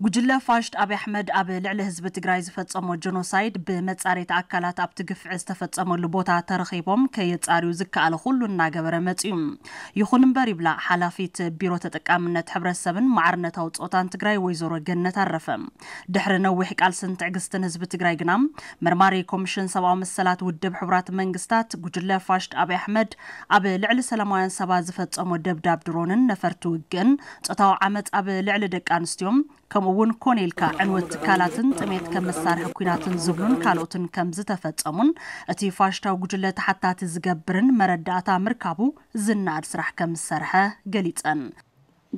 ጉጅለ ፋሽስት ኣብይ ኣሕመድ ኣብ ልዕሊ ህዝቢ ትግራይ ዝፈጸሞ ጀኖሳይድ ብመጻረይቲ ኣካላት ኣብቲ ግፍዒ ዝተፈጸመሉ ቦታ ተረኺቦም ከየጻርዩ ዝከኣለ ኩሉ እናገበረ መጺኡ። ይኹን እምበር ይብላ ሓላፊት ቢሮ ተጠቃምነት ሕብረተሰብን ማዕርነታዊ ጾታን ትግራይ ወይዘሮ ገነት ኣረፈ። ድሕሪ ነዊሕ ቃልስን ትዕግስትን ህዝቢ ትግራይ ግና መርማሪ ኮሚሽን ሰብኣዊ መሰላት ውድብ ሕቡራት መንግስታት ጉጅለ ፋሽስት ኣብይ ኣሕመድ ኣብ ልዕሊ ሰላማውያን ሰባት ዝፈጸሞ ደብዳብ ድሮንን ነፈርቲ ውግእን ጾታዊ ዓመጽ ኣብ ልዕሊ ደቂ ኣንስትዮን ከምኡ እውን ኮነ ኢልካ ዕንወት ትካላትን ጥሜት ከም መሳርሒ ኲናትን ዝብሉን ካልኦትን ከም ዝተፈጸሙን እቲ ፋሽስታዊ ጉጅለ ተሓታቲ ዝገብርን መረዳእታ ምርካቡ ዝነኣድ ስራሕ ከም ዝሰርሐ ገሊጸን።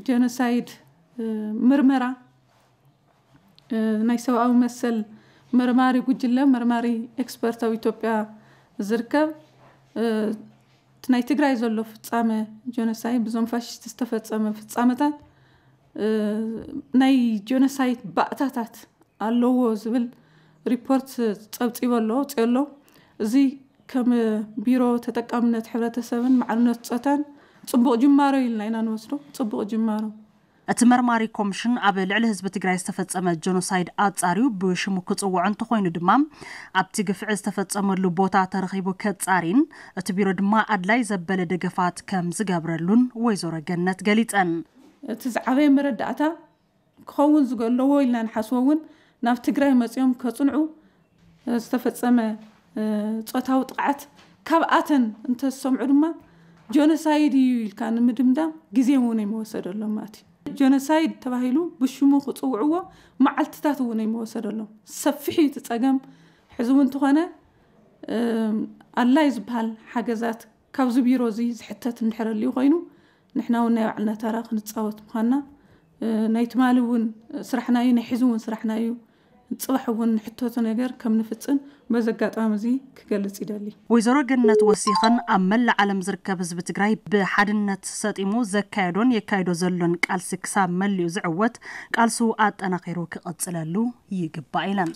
ጀኖሳይድ ምርመራ ናይ ሰብኣዊ መሰል መርማሪ ጉጅለ መርማሪ ኤክስፐርት ኣብ ኢትዮጵያ ዝርከብ እቲ ናይ ትግራይ ዘሎ ፍጻመ ጀኖሳይድ ብዞም ፋሽስት ዝተፈጸመ ፍጻመታት ናይ ጀኖሳይድ ባእታታት ኣለዎ ዝብል ሪፖርት ጸብጺቡ ኣሎ፣ ኣውጺኡ ኣሎ። እዚ ከም ቢሮ ተጠቃምነት ሕብረተሰብን ማዕርነት ጾታን ጽቡቕ ጅማሮ ኢልና ኢና ንወስዶ፣ ጽቡቕ ጅማሮ። እቲ መርማሪ ኮሚሽን ኣብ ልዕሊ ህዝቢ ትግራይ ዝተፈጸመ ጀኖሳይድ ኣጻርዩ ብሽሙ ክጽውዖ እንተኾይኑ ድማ ኣብቲ ግፍዒ ዝተፈጸመሉ ቦታ ተረኺቡ ከጻሪን እቲ ቢሮ ድማ ኣድላይ ዘበለ ደገፋት ከም ዝገብረሉን ወይዘሮ ገነት ገሊጸን። እቲ ዝዓበየ መረዳእታ ክኸውን ዝገለዎ ኢልና ንሓስቦ እውን ናብ ትግራይ መፂኦም ከፅንዑ ዝተፈፀመ ፆታዊ ጥቕዓት ካብኣተን እንተዝሰምዑ ድማ ጆኖሳይድ እዩ ኢልካ ንምድምዳም ግዜ እውን ኣይመወሰደሎም ማለት እዩ። ጆኖሳይድ ተባሂሉ ብሽሙ ክፅውዕዎ መዓልትታት እውን ኣይመወሰደሎም። ሰፊሕ እዩ እቲ ፀገም። ሕዚ እውን እንተኾነ ኣድላይ ዝበሃል ሓገዛት ካብዚ ቢሮ እዚ ዝሕተት እንድሕር ኣልዩ ኮይኑ ንሕና እውን ናይ ባዕልና ታራ ክንፃወት ምዃንና ናይ ትማሊ እውን ስራሕና እዩ፣ ናይ ሕዚ እውን ስራሕና እዩ። ፅባሕ እውን ንሕተቶ ነገር ከም ንፍፅም በዚ ኣጋጣሚ እዚ ክገልፅ ይደሊ። ወይዘሮ ገነት ወሲኸን ኣብ መላእ ዓለም ዝርከብ ህዝቢ ትግራይ ብሓድነት ሰጢሙ ዘካየዶን የካይዶ ዘሎን ቃልሲ ክሳብ መሊኡ ዝዕወት ቃልሱ ኣጠናኺሩ ክቕፅለሉ ይግባእ ኢለን።